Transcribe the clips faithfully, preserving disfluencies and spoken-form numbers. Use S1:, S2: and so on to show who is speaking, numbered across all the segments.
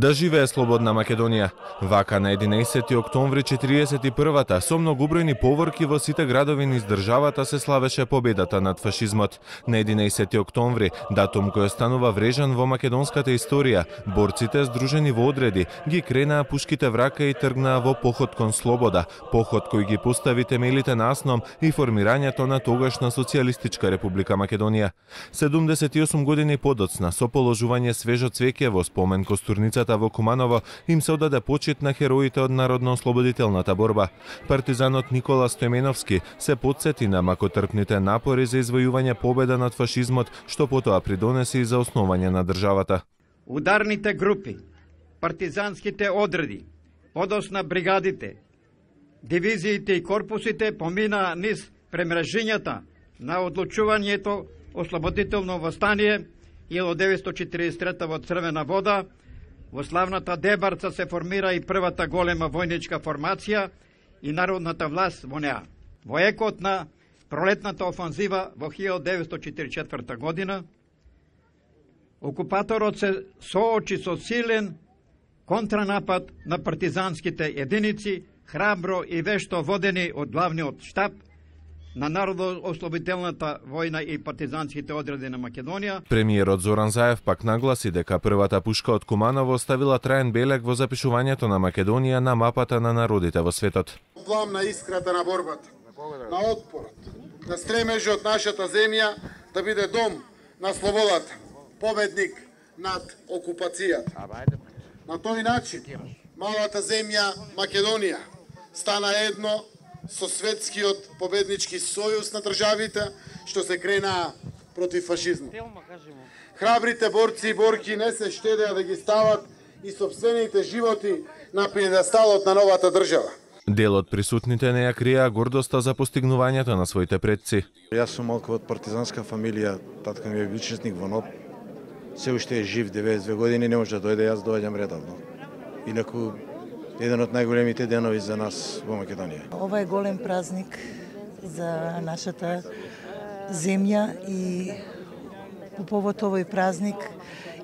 S1: Да живее слободна Македонија. Вака на единаесети октомври четириесет и првата со многобројни поворки во сите градови низ државата се славеше победата над фашизмот. На единаесети октомври, датум кој останува врежан во македонската историја, борците здружени во одреди ги кренаа пушките в рака и тргнаа во поход кон слобода, поход кој ги постави темелите на АСНОМ и формирањето на тогашна социјалистичка република Македонија. седумдесет и осум години подоцна, со положување свежо цвеќе во спомен костурницата во Куманово, им се одаде почит на хероите од народно-ослободителната борба. Партизанот Никола Стојменовски се потсети на макотрпните напори за извојување победа над фашизмот, што потоа придонеси и за основање на државата.
S2: Ударните групи, партизанските одреди, подосна бригадите, дивизиите и корпусите поминаа низ премрежињата на одлучувањето ослободително востание илјадесетстотини деветстотини четиридесет и трета во Црвена вода. Во славната Дебарца се формира и првата голема војничка формација и народната власт во неа. Во екот на пролетната офанзива во илјадесетстотини деветстотини четиридесет и четврта година, окупаторот се соочи со силен контранапад на партизанските единици, храбро и вешто водени од главниот штаб на народно-ослободителната војна и партизанските одреди на Македонија.
S1: Премиерот Зоран Заев пак нагласи дека првата пушка од Куманово ставила траен белег во запишувањето на Македонија на мапата на народите во светот.
S3: Плам на искрата на борбата, на отпорот, на стремежот нашата земја да биде дом на слободата, победник над окупацијата. На тој начин, малата земја Македонија стана едно со светскиот победнички сојуз на државите што се кренаа против фашизмот. Храбрите борци и борки не се штедеа да ги стават и сопствените животи на пиедесталот на новата држава.
S1: Дел од присутните не ја криеа гордоста за постигнувањето на своите предци.
S4: Јас сум малку од партизанска фамилија, татко ми е бил честник во НОБ. Се уште е жив, деветдесет и две години, не може да дојде, јас доаѓам редовно. Инаку еден од најголемите денови за нас во Македонија.
S5: Ова е голем празник за нашата земја и по повод овој празник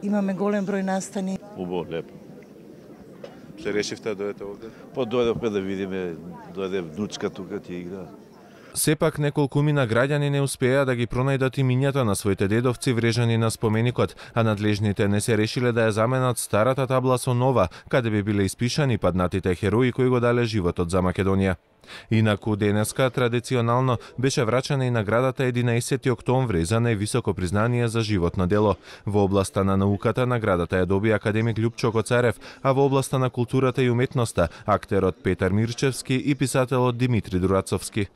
S5: имаме голем број настани.
S6: Убаво, лепо. Се решивте да дојдете овде? Па дојдовме да видиме, дојде внучка тука ти игра.
S1: Сепак неколкумина граѓани не успеа да ги пронајдат имињата на своите дедовци врежани на споменикот, а надлежните не се решиле да ја заменат старата табла со нова, каде би биле испишани паднатите херои кои го дале животот за Македонија. Инаку денеска традиционално беше врачана и наградата единаесети октомври за највисоко признание за животно дело. Во областа на науката наградата ја доби академик Љупчо Коцарев, а во областа на културата и уметноста актерот Петар Мирчевски и писателот Димитри Дурацовски.